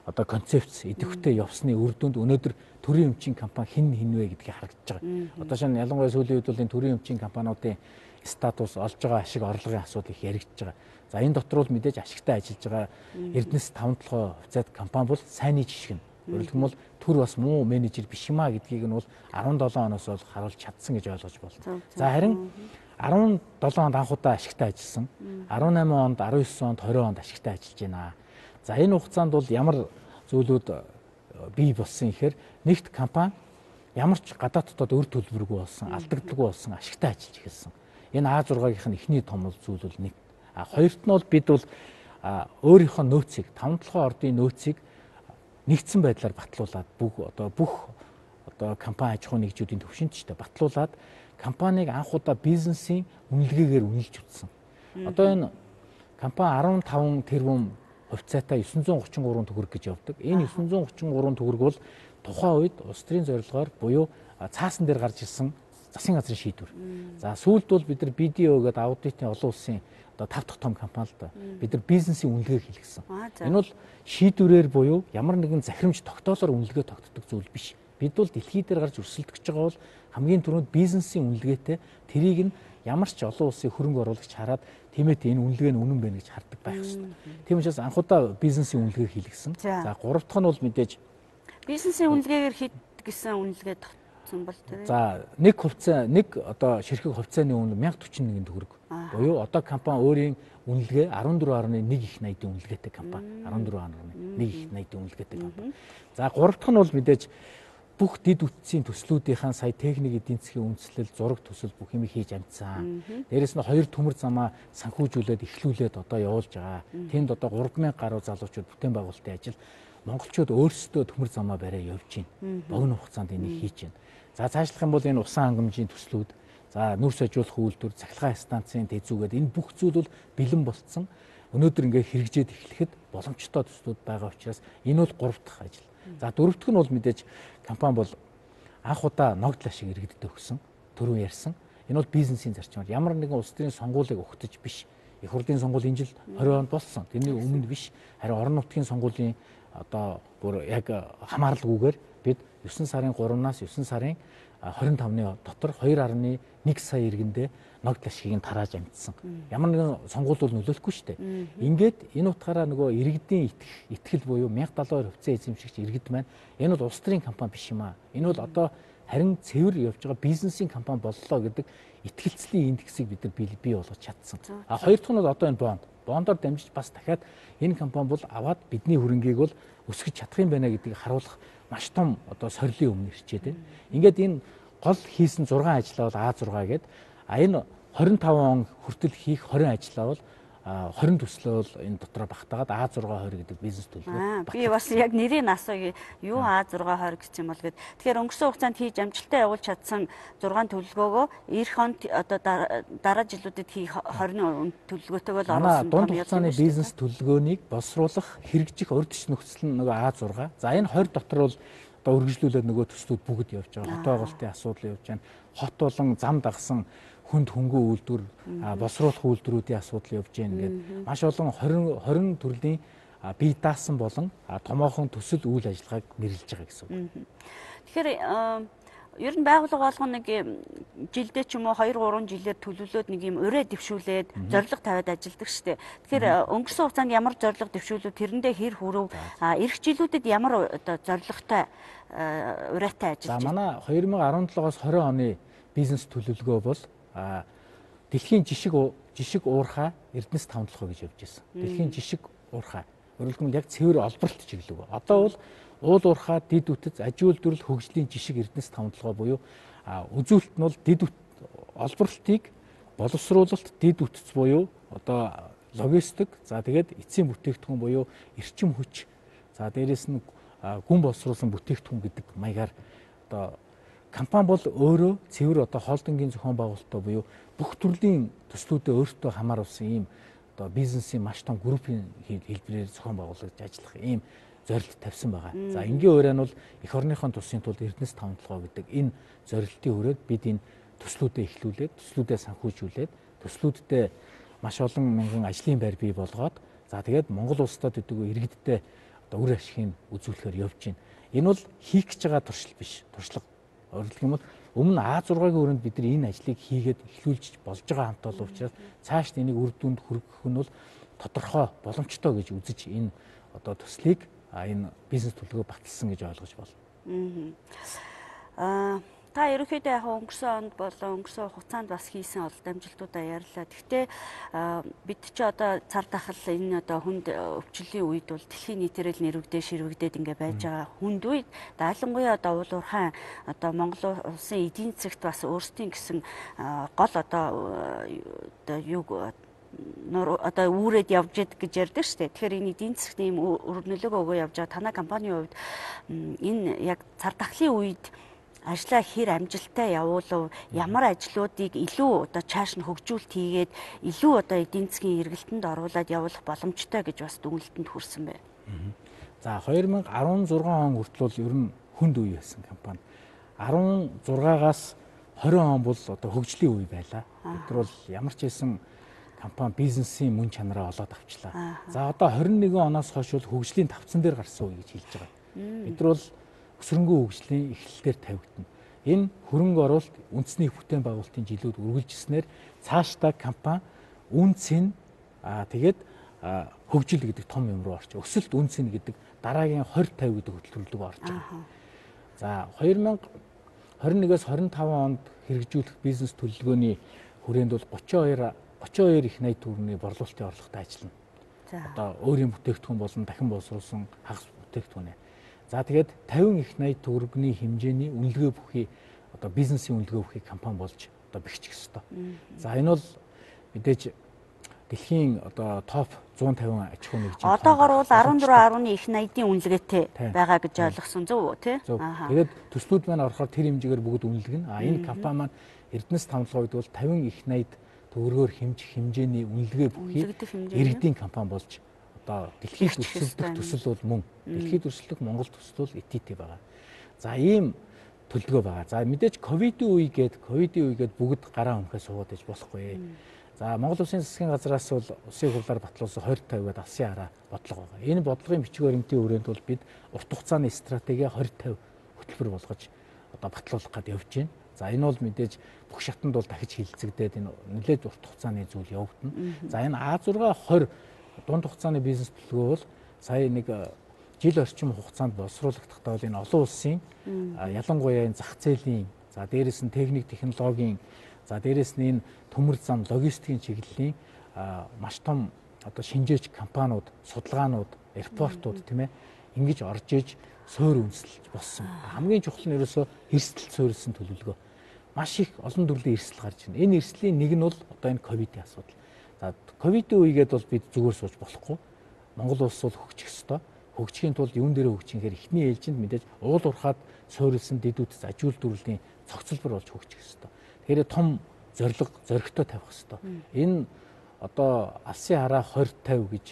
одоо концепц идэвхтэй явсны үр дүнд өнөөдөр төрийн өмчийн компани хэн хэн вэ гэдгийг харагдаж байгаа. Одоо шинэ ялангуяа сүүлийн үед бол энэ төрийн өмчийн компаниудын статус олж байгаа ашиг орлогын асуудал их яригдж байгаа. За энэ дотор бол мэдээж ашигтай ажиллаж байгаа Эрдэнэс таван толгой хувьцаат компани бол сайнны жишг нь. Өөрөлдөх юм бол түр бас муу менежер биш юмаа гэдгийг нь бол арван долоо оноос бол харуулж чадсан гэж ойлгож байна. За харин арван долоо онд анх удаа ашигтай ажилласан. арван найман онд, арван девять онд, двадцать онд ашигтай ажиллаж байна. За энэ хугацаанд бол ямар зүйлүүд бий болсон гэхээр нэгт компани ямар ч гадаад дотоод өр төлбөргүй болсон, алдагдaltaгүй болсон ашигтай ажиллаж эхэлсэн. Энэ А зургаагийнх нь эхний том зүйл бол нэг. А хоёрт нь бол бид бол өөрийнхөө нөөцийг, таван толгой ордын нөөцийг нэгдсэн байдлаар батлуулаад бүх одоо бүх одоо компани аж ахуйн нэгжүүдийн төвшинт ч гэдэг батлуулаад компаниг анх удаа бизнесийн үнэлгээгээр үнэлж үзсэн. Одоо энэ компани арван таван тэрбум хувьцаатай девять сто тридцать три төгрөг гэж явдаг. Энэ девять сто тридцать три төгрөг бол тухайн үед улс төрийн зорилгоор буюу цаасан дээр гарч ирсэн засгийн газрын шийдвэр. За сүүлд бол бид нар би ди о гэдэг аудитын олон улсын одоо тав дахь том компани л да. Бид нар бизнесийн үнэлгээг хийлгэсэн. Энэ бол шийдвэрээр буюу ямар нэгэн захирамж тогтоолоор үнэлгээ тогтдог зүйл биш. Бид бол дэлхий дээр гарч өрсөлдөх гэж байгаа бол хамгийн түрүүнд бизнесийн үнэлгээтэй тэрийг нь ямар ч олон улсын хөрөнгө оруулагч хараад тиймээ энэ үнэлгээ нь үнэн байна гэж хардаг байх ёстой. Тийм учраас анх удаа бизнесийн үнэлгээг хийлгэсэн. За гурав дахь нь бол мэдээж бизнесийн үнэлгээгээр хийдэг гэсэн үнэлгээ тогтсон бол тэр. За нэг хувьцаа нэг одоо ширхэг хувьцааны үнэ мянга дөрвөн нэгэн төгрөг. Буюу одоо компани өөрийн үнэлгээ арван дөрвөн гаруй нэг их найдын үнэлгээтэй компани. арван дөрвөн гаруй нэг их найдын үнэлгээтэй компани. За гурав дахь нь бол мэдээж бүх дид үтсийн төслүүдийнхаа сая техник эдийн засгийн үндэслэл, зураг төсөл бүх юм хийж амжсан. Дээрээс нь хоёр төмөр замаа санхүүжүүлээд эхлүүлээд одоо явуулж байгаа. Тэнд одоо гурван мянга гаруй залуучууд бүтээн байгуулалтын ажил монголчууд өөрсдөө төмөр замаа бариа явж байна. Богино хугацаанд энийг хийж байна. За цаашлах юм бол энэ усан хангамжийн төслүүд, за нүрс ажиулах үйлдвэр, цахилгаан станцын тэзүүгээд энэ бүх зүйл бол бэлэн болцсон. Өнөөдөр ингээ хэрэгжээд эхлэхэд боломжтой төслүүд байгаа учраас энэ бол гурав дахь ажил. За дөрөв дэх нь бол мэдээж компани бол анх удаа ногдол ашиг иргэдэд өгсөн, түрүү ярьсан. Энэ бол бизнесийн зарчмаар ямар нэгэн улс төрийн сонгуулийг өгтөж биш. Их хурлын сонгуул энэ жил двадцать онд болсон. Тэрний өмнө биш. Харин орон нутгийн сонгуулийн одоо бүр яг хамааралгүйгээр бид девять сарын гуравнаас девять сарын двадцать тавны дотор two point one сая иргэндээ ногдол ашигыг тарааж амжсан. Ямар нэгэн сонгуул бол нөлөөлөхгүй шүү дээ. Ингээд энэ утгаараа нөгөө иргэдийн итгэл буюу мянга далуу хоёр хувьцаа эзэмшигч иргэд маань энэ бол улс төрийн компани биш юм аа. Энэ бол одоо харин цэвэр явж байгаа бизнесийн компани боллоо гэдэг итгэлцлийн индексийг бид нар бий болгож чадсан. А хоёр дахь нь бол одоо энэ бонд. Бондоор дамжиж бас дахиад энэ компани бол аваад бидний хөрөнгийг бол өсгөж чадах юм байна гэдгийг харуулах маш том одоо сорилын өмнө ирчээд байна. Ингээд энэ гол хийсэн зургаан ажлаа бол А зургаа гэдэг. А энэ двадцать five он хүртэл хийх twenty ажлаа бол twenty төслөө бол энэ дотроо багтаагаад А six twenty гэдэг бизнес төлөвлөгөө. Би бас яг нэрийг асууя. Юу А six twenty гэж юм бол гээд. Тэгэхээр өнгөрсөн хугацаанд хийж амжилттай явуулж чадсан зургаан төлөвлөгөөгөө эх онд одоо дараа жилүүдэд хийх twenty төлөвлөгөөтэйг л оруулсан. Дунд хугацааны бизнес төлөвлөгөөнийг боловсруулах, хэрэгжих урьдчилан нөхцөл нь нөгөө А six. За энэ twenty дотор бол одоо үргэлжлүүлээд нөгөө төслүүд бүгд явж байгаа. Хот байгуулалтын асуудал явж байна. Хот болон зам дагсан хүнд хөнгөө үйлдвэр, боловсруулах үйлдвэрүүдийн асуудал явж байна гэдэг маш олон twenty төрлийн бие даасан болон томоохон төсөл үйл ажиллагааг нэрлэж байгаа гэсэн үг. Тэгэхээр ер нь байгууллага болгоно нэг жилдээ ч юм уу two three жилээр төлөвлөөд нэг юм өрөө дэвшүүлээд зорилго тавиад ажилладаг шүү дээ. Тэгэхээр өнгөрсөн хугацаанд ямар зорилго дэвшүүлв, тэрэндээ хэр хүрв, эх жилүүдэд ямар одоо зорилготой ураатай ажиллаж байна. За манай twenty seventeen-оос twenty оны бизнес төлөвлөгөө бол дэлхийн жишг жишг уурхай Эрдэнэс таван толгой гэж явж байсан. Дэлхийн жишг уурхай Өөрөлд нь яг цэвэр олборлт чиглэг. Одоо бол уул уурхай, дид үтэц, аж үйлдвэрлэл, хөгжлийн жишг эрдэнэс тавталгаа буюу үзүүлэлт нь бол дид олборлтыг боловсруулалт, дид үтэц буюу одоо логистик, за тэгээд эцсийн бүтээгдэхүүн буюу эрчим хүч, за дээрэс нь гүн боловсруулсан бүтээгдэхүүн гэдэг маягаар одоо компани бол өөрөө цэвэр одоо холдингийн зохион байгуулалттай буюу бүх төрлийн төслүүдэд өөртөө хамааруулсан ийм одоо бизнесийн маш том группийн хэлбэрээр зохион байгуулж ажиллах ийм зорилт тавьсан байгаа. За энгийн ураа нь бол эх орныхон тусын тулд эрдэнэс тавталгаа гэдэг энэ зорилтын хүрээд бид энэ төслүүдэд эхлүүлээд, төслүүдэд санхүүжүүлээд, төслүүддээ маш олон мянган ажлын байр бий болгоод за тэгээд Монгол улсад өдөгөө иргэддээ одоо үр ашигыг үзүүлэхээр явж байна. Энэ бол хийх гэж байгаа туршил биш, туршлага. Өөрөлдөх юм бол өмнө А зургагийн өрөөнд бид нар энэ ажлыг хийгээд эхлүүлж болж байгаа хамт олон учраас цааш энийг үр дүнд хүргэх нь бол тодорхой боломжтой гэж үзэж энэ одоо төслийг энэ бизнес төлөвлөгөө баталсан гэж ойлгож байна. Аа та ерөнхийдөө яг өнгөрсөн онд болон өнгөрсөн хугацаанд бас хийсэн олд амжилтуудаа ярьлаа. Гэхдээ бид ч одоо цар тахал энэ одоо хүнд өвчлөлийн үед бол дэлхийн нийтээр л нэрвэгдээ ширвэгдээд ингээ байж байгаа хүнд үед даалангуяа одоо уул уурхайн одоо Монгол улсын эдийн засагт бас өөрсдийн гэсэн гол одоо одоо юу одоо үүрээд явж идэг гэж ярьдаг шүү дээ. Тэгэхээр энэ эдийн засгт ийм нөлөөгөө өгөө явж байгаа танай компанийн хувьд энэ яг цар тахлын үед ажлаа хэр амжилттай явуулав, ямар ажлуудыг илүү одоо чааш нь хөгжүүлэлт хийгээд илүү одоо эдийн засгийн эргэлтэнд оруулаад явуулах боломжтой гэж бас дүгнэлтэнд хүрсэн байна. За хоёр мянга арван зургаан он хүртэл бол ер нь хүнд үе байсан компани. арван зургаагаас хорин он бол одоо хөгжлийн үе байлаа. Бид нар бол ямар ч байсан компани бизнесийн мөн чанараа олоод авчлаа. За одоо хорин нэгэн оноос хойш бол хөгжлийн тавцан дээр гарсан үе гэж хэлж байгаа. Бид нар бол өсрөнгөө хөгжлийн эхлэлээр тавигдана. Энэ хөрөнгө оруулалт үндэсний бүтээн байгуулалтын жилүүд үргэлжилснээр цаашдаа компани үнцэн аа тэгээд хөгжил гэдэг том юм руу орч. Өсөлт үнцэн гэдэг дараагийн двадцать пятьдесят гэдэг хөтөлбөрлөг орж байгаа. За хоёр мянга хорин нэгээс хорин таван онд хэрэгжүүлэх бизнес төлөвлөгөөний хүрээнд бол тридцать two их найд төгрөгийн борлуулалтын орлоготой ажиллана. Одоо өөрийн бүтээгдэхүүн болон дахин боловсруулсан хагас бүтээгдэхүүн. За тэгээд пятьдесят их найд төгрөгийн хэмжээний үнэлгээ бүхий одоо бизнесийн үнэлгээ бүхий компани болж одоо бэхжих ёстой. За энэ бол мэдээж дэлхийн одоо топ one fifty аж ахуйн нэгжийн одоогор бол арван дөрвөн арван их найдын үнэлгээтэй байгаа гэж ойлгосон зөв үү тий? Тэгээд төслүүд маань орохоор тэр хэмжээгээр бүгд үнэлгэн. А энэ компани маань эрдэнэс тавталгаа гэдэг бол пятьдесят их найд төгрөгөөр хэмжих хэмжээний үнэлгээ бүхий иргэдийн компани болж одоо дэлхийд өрсөлдөх төсөл бол мөн. Дэлхийд өрсөлдөх Монгол төсөл бол ай ти ти байгаа. За ийм төлөвлөгөө байгаа. За мэдээж ковидын үе гээд ковидын үе гээд бүгд гараа өмхөө суугаад иж болохгүй. За Монгол Улсын засгийн газраас бол улсын хурлаар батлуулсан двадцать пятьдесят гээд алсын хараа бодлого байгаа. Энэ бодлогын бичиг баримтын хүрээнд бол бид урт хугацааны стратеги двадцать пятьдесят хөтөлбөр болгож одоо батлуулах гээд явж байна. За энэ бол мэдээж бүх шатанд бол дахиж хилцэгдээд энэ нэлээд урт хугацааны зүйл явагдана. За энэ А six twenty дунд хугацааны бизнес төлөвлөгөө бол сая нэг жил орчим хугацаанд боловсруулагдахтаа бол энэ олон улсын ялангуяа энэ зах зээлийн, за дээрэс нь техник технологийн, за дээрэс нь энэ төмөр зам логистикийн чиглэлийн маш том одоо шинжээч компаниуд, судалгаанууд, аэропортууд тийм ээ ингэж орж иж суур үндэслэж болсон. Хамгийн чухал нь ерөөсөө эрсдэл суурилсан төлөвлөгөө. Маш их олон төрлийн эрсдэл гарч байна. Энэ эрсдлийн нэг нь бол одоо энэ ковидын асуудал. За ковидын үегээд бол бид зүгээр сууж болохгүй. Монгол улс бол хөгжих ёстой. Хөгжихийн тулд юун дээр хөгжихээр эхний ээлжинд мэдээж уул уурхаад суурилсан дэдүүдэс аж үйлдвэрлэлийн цогцлбор болж хөгжих ёстой. Тэгэхээр том зорилго, зоригтой тавих ёстой. Энэ одоо алсын хараа двадцать пятьдесят гэж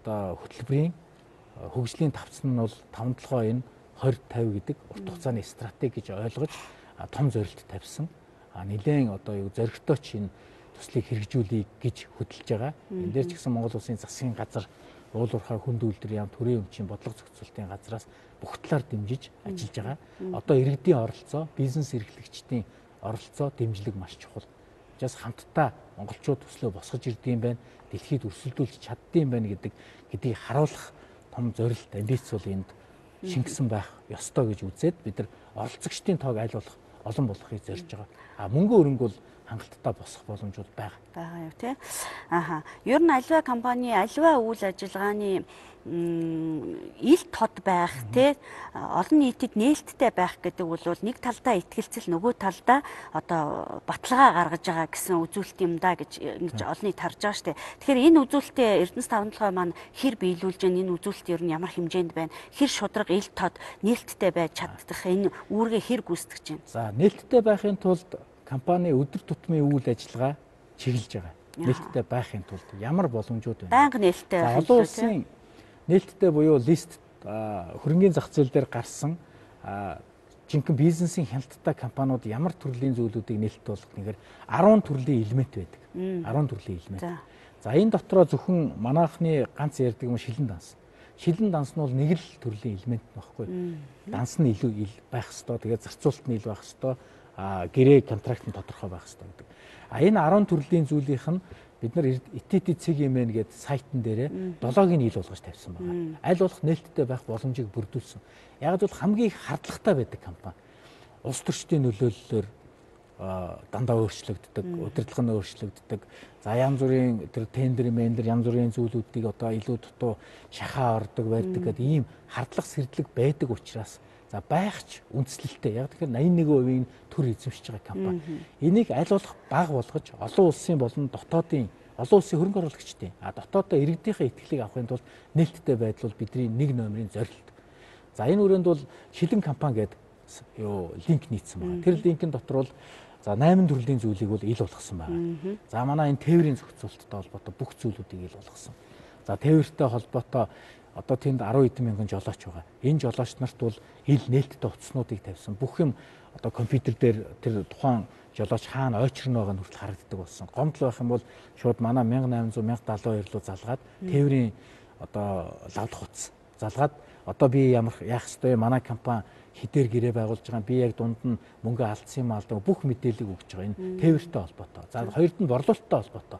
одоо хөтөлбөрийн хөгжлийн тавцан нь бол таван толгой энэ двадцать пятьдесят гэдэг урт хугацааны стратеги гэж ойлгож том зорилт тавьсан. А нэлээд одоо юу зоригтой ч энэ төслийг хэрэгжүүлэе гэж хөдөлж байгаа. Энд дээр ч гэсэн Монгол Улсын засгийн газар, уул уурхай хүнд үйлдвэр яам төрийн өмчийн бодлого зохицуулалтын газраас бүх талаар дэмжиж ажиллаж байгаа. Одоо иргэдийн оролцоо, бизнес эрхлэгчдийн оролцоо дэмжлэг маш чухал. Жас хамтдаа монголчууд төслөө босгож ирдэм байх, дэлхийд өрсөлдүүлж чаддсан байх гэдэг гэдгийг харуулах том зорилт, амбиц бол энд шингэсэн байх ёстой гэж үзээд бид нар оролцогчдын тоог аль болох олон болгохыг зорж байгаа. А мөнгө өрөнгө бол хангалттай босох боломжууд байгаа. Байгаа юу тий. Аха. Ер нь альва компани альва үйл ажиллагааны ил тод байх тий олон нийтэд нээлттэй байх гэдэг бол нэг талдаа итгэлцэл нөгөө талдаа одоо баталгаа гаргаж байгаа гэсэн үзүүлэлт юм да гэж ингэж олон нийт харж байгаа штэ. Тэгэхээр энэ үзүүлэлтээ Эрдэнэс таван толгой маань хэр биелүүлж байна, энэ үзүүлэлт ер нь ямар хэмжээнд байна, хэр шударга ил тод нээлттэй байж чаддах энэ үүргээ хэр гүйцэтгэж байна. За нээлттэй байхын тулд компани өдөр тутмын үйл ажиллагаа чиглэж байгаа. Нээлттэй байхын тулд ямар боломжууд байна? Байнга нээлттэй байх олон улсын нээлттэй буюу лист хөрөнгөний зах зээл дээр гарсан жинхэнэ бизнесийн хяналттай компаниуд ямар төрлийн зүйлүүдийг нээлттэй болгох нэгээр арван төрлийн элемент байдаг. арван төрлийн элемент. За энэ дотроо зөвхөн манайхны ганц ярьдаг юм шилэн данс. Шилэн данс нь бол нэг л төрлийн элемент нөхгүй. Данс нь илүү байх ёстой. Тэгээд зарцуулалт нь илүү байх ёстой. А гэрээ контракт нь тодорхой байх ёстой гэдэг. А энэ арван төрлийн зүйлийнх нь бид нар итити цэгмэн гэдэг сайтн дээрээ долоог нь ил болгож тавьсан байна. Аль болох нээлттэй байх боломжийг бүрдүүлсэн. Яг л хамгийн их хардлагатай байдаг компани. Улс төрчдийн нөлөөллөөр дандаа өөрчлөгддөг, удирдлага нь өөрчлөгддөг. За янз бүрийн тэр тендер, мендер янз бүрийн зүйлүүдийг одоо илүү дутуу шахаа ордог байдаг гэдэг ийм хардлага сэрдлэг байдаг учраас за байхч үндэслэлтэй. Яг тэгэхээр восемьдесят нэг хувийн төр эзэмшиж байгаа компани. Энийг аль болох бага болгож олон улсын болон дотоодын олон улсын хөрөнгө оруулагчдын а дотоодоо иргэдийнхээ итгэлийг авахын тулд нээлттэй байдал бол бидний нэг номерын зорилт. За энэ үрээнд бол шилэн компани гэдэг юу линк нийцсэн байна. Тэр линкийн дотор бол за восемь төрлийн зүйлийг бол ил болгосон байна. За манай энэ тээврийн зохицуулалттай холбоотой бүх зүйлүүдийг ил болгосон. За тээвэртэй холбоотой одоо тэнд арван эдэн мянган жолооч байгаа. Энэ жолооч нарт бол ил нээлттэй утаснуудыг тавьсан. Бүх юм одоо компьютер дээр тэр тухайн жолооч хаана ойчрно байгаа нь хүртэл харагддаг болсон. Гомдол байх юм бол шууд манай мянга найман зуун мянга даалгавар руу залгаад тээврийн одоо лавдах утас залгаад одоо би ямар яах ёстой манай компани хідээр гэрээ байгуулж байгаа би яг дунд нь мөнгө алдсан юм алдаг бүх мэдээллийг өгч байгаа. Энэ тээвэртэй холбоотой. За хоёрд нь борлуулалттай холбоотой.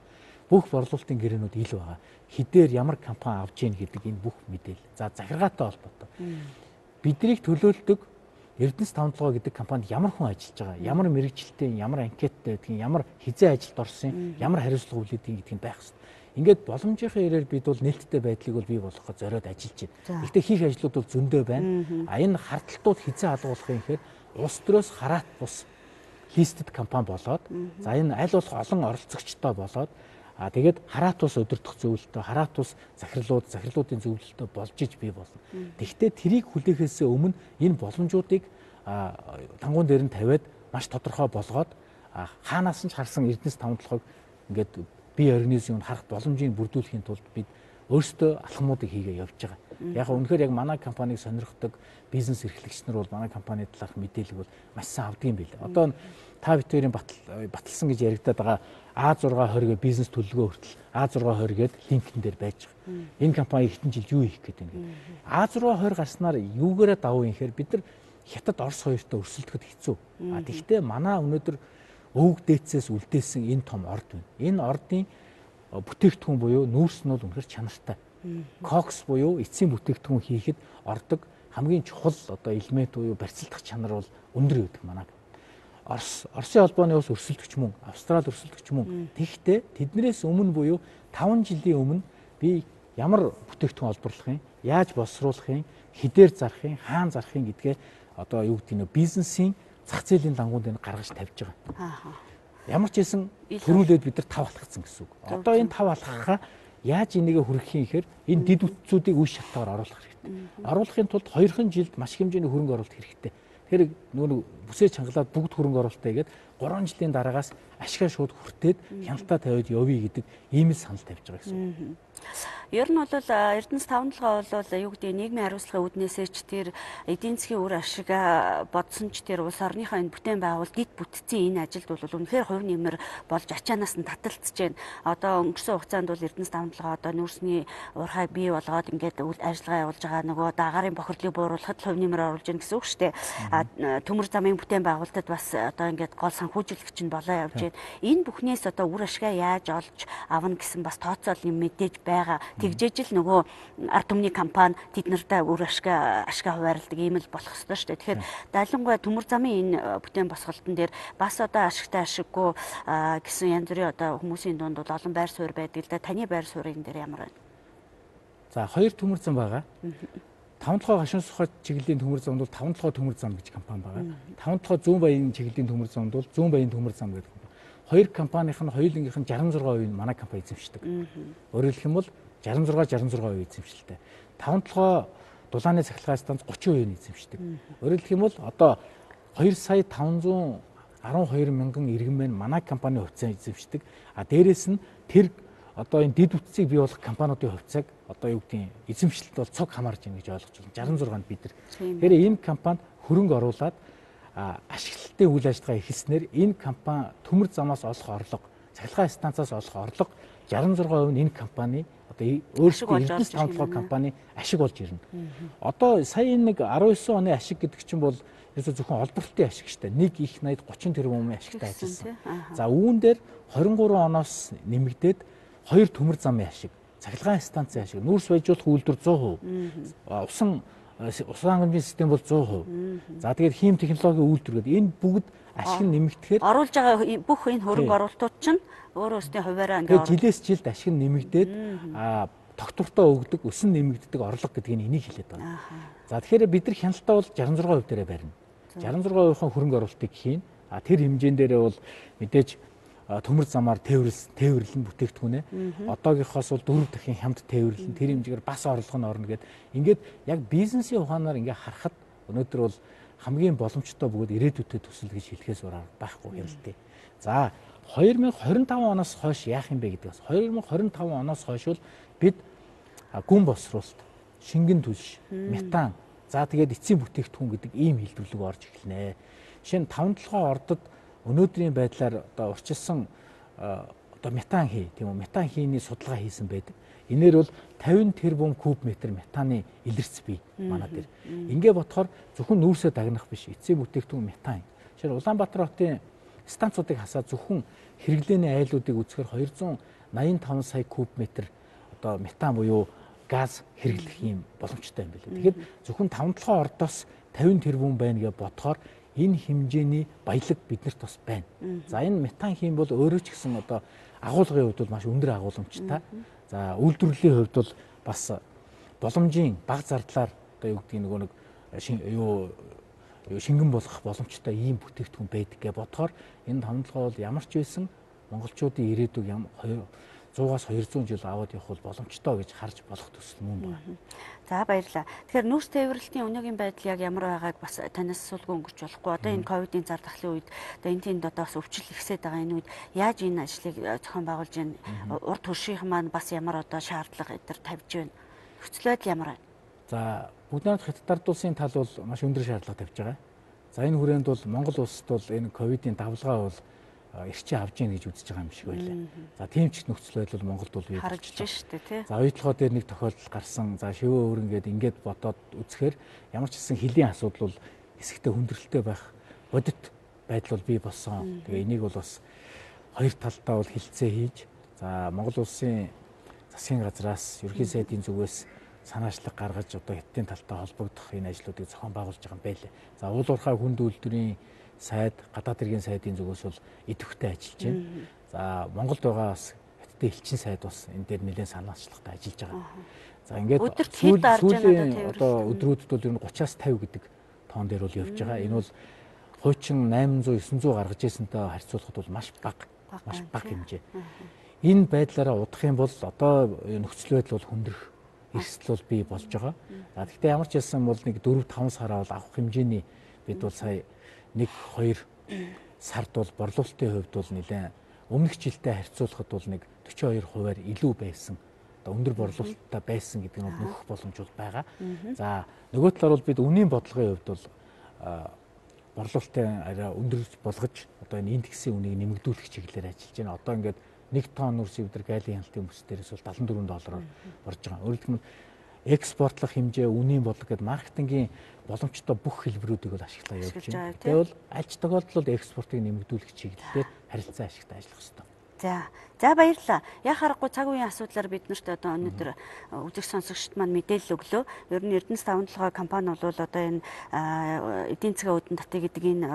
Бүх борлуулалтын гэрээнүүд ил байгаа. Хідээр ямар компани авч ийн гэдэг энэ бүх мэдээлэл. За захиргаатай холбоотой. Биднийг төлөөлдөг Эрдэнэс таван толгой гэдэг компанид ямар хүн ажиллаж байгаа, ямар мэрэгжилтэй, ямар анкеттай гэдгийг, ямар хизээ ажилд орсон, ямар хариуцлага хүлээдэг гэдгийг байх хэрэгтэй. Ингээд боломжийнхаа ирээр бид бол нээлттэй байдлыг бол бий болгоход зориод ажиллаж байна. Гэхдээ хийх ажлууд бол зөндөө байна. А энэ хардталтууд хизээ алгуулах юм гэхээр улс төрөөс хараат бус листед компани болоод за энэ аль болох олон оролцогчтой болоод а тэгээд хараат ус өдөртөх зөвлөлтөй, хараат ус захирлууд, захирлуудын зөвлөлтөй болж иж бий болно. Тэгэхдээ трийг хүлээхээс өмнө энэ боломжуудыг тангуун дээр нь тавиад маш тодорхой болгоод хаанаас нь ч харсан Эрдэнэс таван толгойг ингээд бие организмыг харах боломжийг бүрдүүлэхийн тулд бид өөрсдөө алхмуудыг хийгээ явж байгаа. Яг үнэхээр яг манай компанийг сонирхдаг бизнес эрхлэгч нар бол манай компани талаарх мэдээлэл бол маш сайн авдаг юм билээ. Одоо та битүүрийн баталсан гэж яригадаад байгаа А зураг хориг бизнес төлөвлөгөө хүртэл А зураг хориг гээд линкэн дээр байж байгаа. Энэ компани хэдэн жил юу хийх гээд байна гэдэг. А зураг хориг гарснаар юугаараа давуу юм хэр бид нар хятад Орос хоёртой өрсөлдөхөд хэцүү. А тэгвэл манай өнөөдөр өвөг дээдсээс үлдээсэн энэ том орд байна. Энэ ордын бүтээгдэхүүн буюу нүүрс нь бол үнэхээр чанартай. Кокс буюу эцсийн бүтээгдэхүүн хийхэд ордог хамгийн чухал одоо элемент буюу барьцалдах чанар бол өндөр байдаг манай. Орос Оросын холбооны ус өрсөлдөгч мөн, Австрали өрсөлдөгч мөн. Тэгэхдээ тэднээс өмнө буюу таван жилийн өмнө би ямар бүтээгдэхүүн олборлох юм, яаж боловсруулах юм, хідээр зарах юм, хаана зарах юм гэдгээ одоо юу гэдэг нь бизнесийн зах зээлийн дангууд энэ гаргаж тавьж байгаа. Ямар ч хэсэн төрүүлээд бид нар тав алхацсан гэсэн үг. Одоо энэ тав алхахаа яаж энийгээ хүргэх юм гэхээр энэ дид үтцүүдийг үе шатаагаар оруулах хэрэгтэй. Оруулахын тулд хоёрхан жилд маш хэмжээний хөрөнгө оруулалт хэрэгтэй. Тэр нөгөө бүсээ чангалаад бүгд хөрөнгө оруулалтаа хийгээд гурван жилийн дараагаас ашгаа шууд хүртээд хяналтаа тавиад явъя гэдэг ийм л санал тавьж байгаа гэсэн. Ер нь бол Эрдэнэс таван толгой бол юу гэдэг нийгмийн хариуцлагын үүднээсээ ч тэр эдийн засгийн үр ашигаа бодсон ч тэр улс орныхоо энэ бүтээн байгуул гид бүтцийн энэ ажилд бол үнэхээр хувь нэмэр болж ачаанаас нь таталцж байна. Одоо өнгөрсөн хугацаанд бол Эрдэнэс таван толгой одоо нүүрсний уурхай бий болгоод ингээд ажиллагаа явуулж байгаа нөгөө дагаарын бохирдлыг бууруулахад хувь нэмэр оруулж байна гэсэн үг шүү дээ. А төмөр замын бүтээн байгуулалтад бас одоо ингээд гол санхүүжилэгч нь болоо явж байна. Энэ бүхнээс одоо үр ашгаа яаж олж авна гэсэн бас тооцоол юм мэдээж байгаа. Тэгжээж л нөгөө ард түмний компани тэд нартай үр ашгаа ашгаа хуваарлдаг ийм л болох ёстой шүү дээ. Тэгэхээр далингуй төмөр замын энэ бүтээн босголтон дээр бас одоо ашигтай ашиггүй гэсэн янз бүрийн одоо хүмүүсийн дунд бол олон байр суурь байдаг л да. Таны байр суурийн дээр ямар байна? За хоёр төмөр зам байгаа. таван толгой гашуун сухад чиглэлийн төмөр замд бол таван толгой төмөр зам гэж компани байгаа. таван толгой зүүн баян чиглэлийн төмөр замд бол зүүн баян төмөр зам гэдэг компани. Хоёр компанийн нь хоёулынх нь шестьдесят шесть хувийг манай компани эзэмшдэг. Өөрөөр хэлэх юм бол шестьдесят шесть шестьдесят шесть хувийн эзэмшилтэй. таван толгой дулааны цахилгаан станц тридцать хувийг эзэмшдэг. Өөрөөр хэлэх юм бол одоо хоёр сая таван зуун арван хоёр мянган иргэн маань манай компани хувьцаа эзэмшдэг. А дээрэс нь тэр одоо энэ дэд бүтцийг бий болгох компаниудын хувьцааг одоо юу гэдгийг эзэмшилт бол цог хамаарж байна гэж ойлгож байна. шестьдесят шесть-нд бид нар. Тэгэхээр энэ компанид хөрөнгө оруулаад ашиглалтын үйл ажиллагаа эхэлснээр энэ компани төмөр замаас олох орлого, цахилгаан станцаас олох орлого шестьдесят шесть хувь нь энэ компани одоо өөрсдөө эрдэс таван толгой компани ашиг болж ирнэ. Одоо сая энэ нэг арван девять оны ашиг гэдэг чинь бол ерөөсө зөвхөн олборлтын ашиг шүү дээ. нэг их найд тридцать тэрбумын ашигтай ажилласан. За үүн дээр двадцать три оноос нэмэгдээд хоёр төмөр замын ашиг, цахилгаан станцын ашиг, нүүрс байжуулах үйлдвэр сто перцент, усан усан хангамжийн систем бол сто перцент. За тэгээд хийм технологийн үйлдвэр гэдэг энэ бүгд ашиг нэмэгдэхээр оруулж байгаа бүх энэ хөрөнгө оруулалтууд чинь өөрөөсөө хуваараа ингээд жилээс жилд ашиг нэмэгдээд а тогтвортой өгдөг, өсөн нэмэгддэг орлого гэдгийг энийг хэлээд байна. За тэгэхээр бид нар хяналтаа бол шестьдесят шесть хувь дээрээ барина. шестьдесят шесть хувийн хөрөнгө оруулалтыг хийн. А тэр хэмжээнд дээрээ бол мэдээж төмөр замаар тээвэрлсэн тээвэрлэн бүтээгдэхүүнээ одоогийнхоос бол дөрөв дахин хямд тээвэрлэн тэр хэмжээгээр бас орлого нь орно гэдэг. Ингээд яг бизнесийн ухаанаар ингээ харахад өнөөдөр бол хамгийн боломжтой бөгөөд ирээдүйдээ төсөл гэж хэлэхээс өөр байхгүй хяналтыг. За две тысячи двадцать пять оноос хойш яах юм бэ гэдгээс две тысячи двадцать пять оноос хойш бол бид гүн босруулалт, шингэн түлш, метан, за тэгээд эцсийн бүтээгдэхүүн гэдэг ийм хэлбэрлэг орж эхэлнэ. Жишээ нь таван толгой ордод өнөөдрийн байдлаар одоо урчилсан одоо метан хий тийм үү метан хийний судалгаа хийсэн байдаг. Энээр бол пятьдесят тэрбум куб метр метаны илэрц бий манай дээр. Ингээ бодохоор зөвхөн нүүрсээ дагнах биш эцсийн бүтээгдэхүүн метан. Жишээ нь Улаанбаатар хотын станцуудыг хасаад зөвхөн хэрэглээний айлуудыг үзэхээр двести восемьдесят пять сая куб метр одоо метан буюу газ хэрэглэх юм боломжтой юм билээ. Тэгэхээр зөвхөн таван толгой ордоос пятьдесят тэрбум байна гэж бодохоор энэ хэмжээний баялаг биднэрт бас байна. За энэ метан хийм бол өөрөө ч гэсэн одоо агуулгын хувьд бол маш өндөр агууламжтай. За үйлдвэрлэлийн хувьд бол бас боломжийн бага зардлаар одоо юу гэдгийг нөгөө нэг юу шингэн болгох боломжтой ийм бүтээгдэхүүн байдаг гэж бодохоор энэ таван толгой бол ямар ч байсан монголчуудын ирээдүйг сто-аас двести жил аваад явах бол боломжтой гэж харж болох төсөл мөн байна. За баярлалаа. Тэгэхээр нүүрс тээвэрлэлтийн өнөөгийн байдал яг ямар байгааг бас танаас асуулгүй өнгөрч болохгүй. Одоо энэ ковидын зар дахлын үед одоо энэ тэнд одоо бас өвчл ихсээд байгаа энэ үед яаж энэ ажлыг зохион байгуулж байна? Урд хөршийнх маань бас ямар одоо шаардлага эдгээр тавьж байна? Нөхцөл байдал ямар байна? За бүгд найрамд хятад улсын тал бол маш өндөр шаардлага тавьж байгаа. За энэ хүрээнд бол Монгол улсад бол энэ ковидын давлгаа бол эрчээ авж ийн гэж үзэж байгаа юм шиг байлаа. За тийм ч нөхцөл байдал Монголд бол бий харагдаж шүү дээ тий. За оюутлогоо дээр нэг тохиолдол гарсан. За шивээ өөрөнгөд ингээд бодоод үзэхээр ямар ч гэсэн хөлийн асуудал бол хэсэгтээ хүндрэлтэй байх бодит байдал бол бий болсон. Тэгээ энийг бол бас хоёр талдаа бол хилцээ хийж за Монгол улсын засгийн газраас ерөнхий сайдын зүгээс санаачлаг гаргаж одоо Хятадын талтай холбогдох энэ ажлуудыг зохион байгуулж байгаа юм байлээ. За уул уурхай хүнд үйлдвэрийн сайд, гадаад иргэн сайдын зүгээс бол идэвхтэй ажиллаж байна. За Монголд байгаа бас Хятадын элчин сайд бас энэ дээр нэлээд санаачлагтай ажиллаж байгаа. За ингээд сүүлийн одоо өдрүүдэд бол ер нь тридцаас пятьдесят гэдэг тоон дээр бол явж байгаа. Энэ бол хуучин восемь сто девять сто гаргаж ирсэнтэй харьцуулахад бол маш бага, маш бага хэмжээ. Энэ байдлаараа удах юм бол одоо нөхцөл байдал бол хүндрэх эрсдэл бол бий болж байгаа. За гэхдээ ямар ч хэлсэн бол нэг дөрөв таван сараа бол авах хэмжээний бид бол сая нэг хоёр сард бол борлуулалтын хувьд бол нэлээд өмнөх жилдээ харьцуулахад бол нэг forty two хувиар илүү байсан. Одоо өндөр борлуулалттай байсан гэдэг нь нөхөх боломж бол байгаа. За нөгөө талаар бол бид үнийн бодлогын хувьд бол борлуулалтын арай өндөр болгож одоо энэ индексийн үнийг нэмэгдүүлэх чиглэлээр ажиллаж байна. Одоо ингээд нэг тонн үрсийг бид нар гайлын хяналтын бүс дээрээс бол seventy four доллараар борж байгаа. Өөрөлдөх нь экспортлох хэмжээ, үнийн бодлого гэдэг маркетингийн боломжтой бүх хэлбэрүүдийг бол ашиглаа явуулж байна. Тэгвэл аль ч тохиолдолд экспортыг нэмэгдүүлэх чиглэлээр харилцан ашигтай ажиллах хэрэгтэй. За. За баярлалаа. Яг харахгүй цаг үеийн асуудлаар бид нарт одоо өнөөдөр үзэг сонсогчд маань мэдээлэл өглөө. Ер нь Эрдэнэс таван толгой компани бол одоо энэ эдийн засгийн үүдэн татыг гэдэг энэ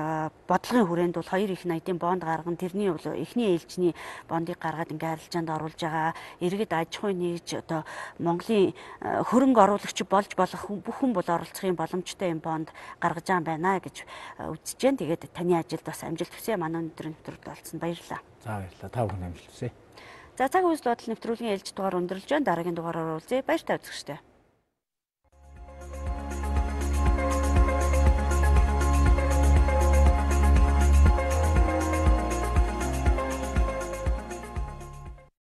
бодлогын хүрээнд бол хоёр их найдын бонд гарган тэрний бол эхний ээлжний бондыг гаргаад ингээ арилжаанд оруулж байгаа. Иргэд аж ахуйн нэгж одоо Монголын хөрөнгө оруулагч болж болох бүх хүн бол оролцохын боломжтой юм бонд гаргаж байгаа байна гэж үзэж байна. Тэгээд таны ажилд бас амжилт хүсье. Манай өнөөдрийн нэвтрүүлэгт олцсон баярлалаа. За баярлалаа. Та бүхэн амжилт хүсье. За цаг үйл бодол нэвтрүүлгийн ээлж дугаар өндөрлж байна. Дараагийн дугаараар уулзъя. Баяр та үзэгчдээ.